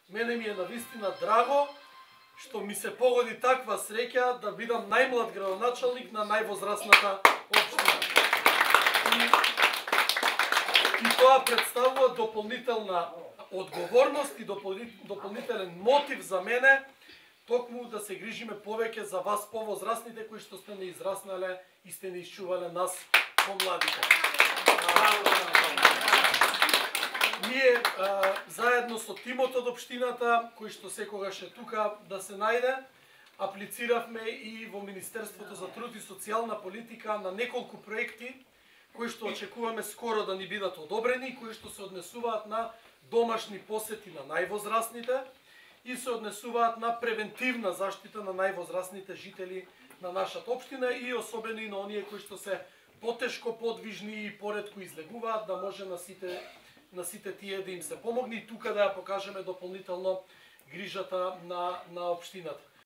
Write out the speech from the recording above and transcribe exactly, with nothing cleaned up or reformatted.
Мене ми е навистина драго што ми се погоди таква среќа да бидам најмлад градоначалник на највозрасната општина. И, и тоа представува дополнителна одговорност и дополнителен мотив за мене токму да се грижиме повеќе за вас повозрасните кои што сте не израснале и сте не исчувале нас помладите. Ние а, заедно со тимот од општината, кој што секогаш е тука да се најде, аплициравме и во Министерството за труд и социјална политика на неколку проекти кои што очекуваме скоро да ни бидат одобрени и кои што се однесуваат на домашни посети на највозрасните и се однесуваат на превентивна заштита на највозрасните жители на нашата општина и особено и на оние кои што се потешко подвижни и поретко излегуваат, да може на сите на сите тие да им се помогне и тука да ја покажеме дополнително грижата на на општината.